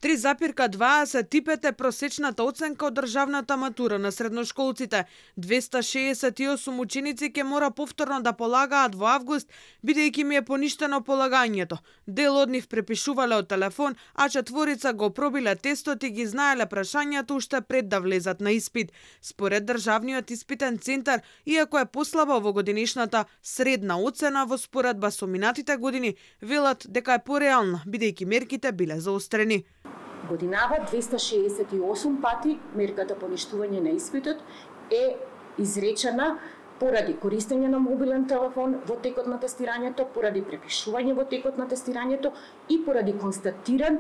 3,2 се типете просечната оценка од државната матура на средношколците. 268 ученици ќе мора повторно да полагаат во август, бидејќи им е поништено полагањето. Дел од нив препишувале од телефон, а четворица го пробиле тестот и ги знаеле прашањата уште пред да влезат на испит. Според државниот испитен центар, иако е послаба овогодинешната средна оцена во споредба со минатите години, велат дека е пореална, бидејќи мерките биле заострени. Годинава 268 пати мерката поништување на испитот е изречена поради користење на мобилен телефон во текот на тестирањето, поради препишување во текот на тестирањето и поради констатирано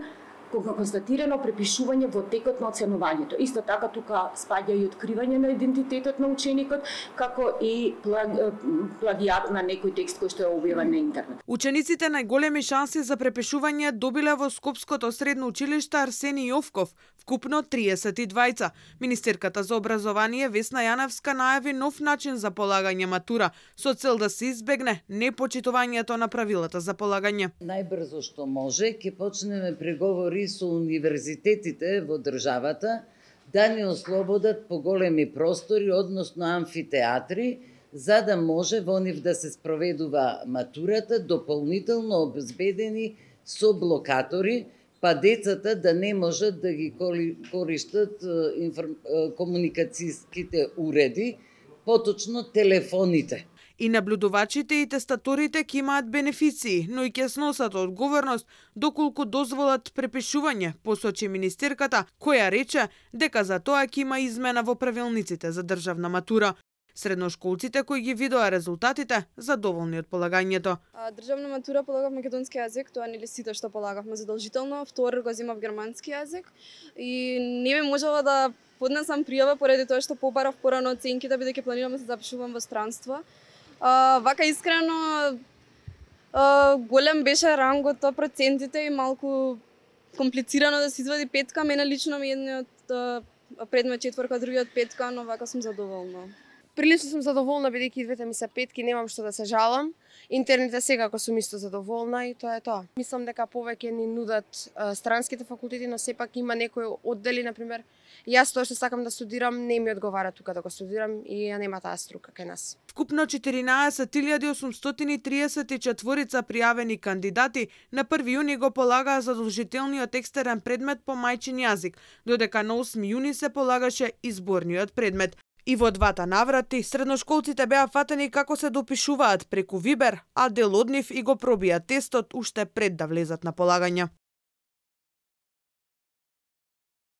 препишување во текот на оценувањето. Исто така тука спаѓа и откривање на идентитетот на ученикот, како и плагијат на некој текст кој што е објавен на интернет. Учениците најголеми шанси за препишување добиле во Скопското средно училиште Арсени Јовков, вкупно 32. Министерката за образование Весна Јаневска најави нов начин за полагање матура, со цел да се избегне непочитувањето на правилата за полагање. Најбрзо што може ќе почнеме преговори со универзитетите во државата да ни ослободат поголеми простори, односно амфитеатри, за да може во нив да се спроведува матурата дополнително обезбедени со блокатори, па децата да не можат да ги користат комуникацијските уреди, поточно телефоните. И наблюдувачите и тестаторите ќе имаат бенефиции, но и ќе сносат одговорност доколку дозволат препишување, посочи министерката, која рече дека за тоа ќе има измена во правилниците за државна матура. Средношколците кои ги видоа резултатите задоволни од полагањето. Државна матура полагав македонски јазик, тоа нели сите што полагавме задолжително, втор го земав германски јазик и не ми можела да поднесам пријава поради тоа што побарав порано оценките, бидејќи планирам да се запишувам во странство. Вака искрено голем беше рангот, процентите и малку комплицирано да се извади петка. Мене лично ми едниот предмет четворка, другиот петка, но вака сум задоволна. Прилично сум задоволна, бидејќи двете ми се петки, немам што да се жалам. Интерните секако сум исто задоволна и тоа е тоа. Мислам дека повеќе ни нудат странските факултети, но сепак има некои оддели, например, јас тоа што сакам да студирам, не ми одговара тука да го студирам и ја нема таа струка кај нас. Вкупно 14.834 пријавени кандидати на 1 јуни го полагаа задолжителниот екстерен предмет по мајчин јазик, додека на 8 јуни се полагаше изборниот предмет. И во двата наврати, средношколците беа фатени како се допишуваат преку Вибер, а дел од нив и го пробија тестот уште пред да влезат на полагање.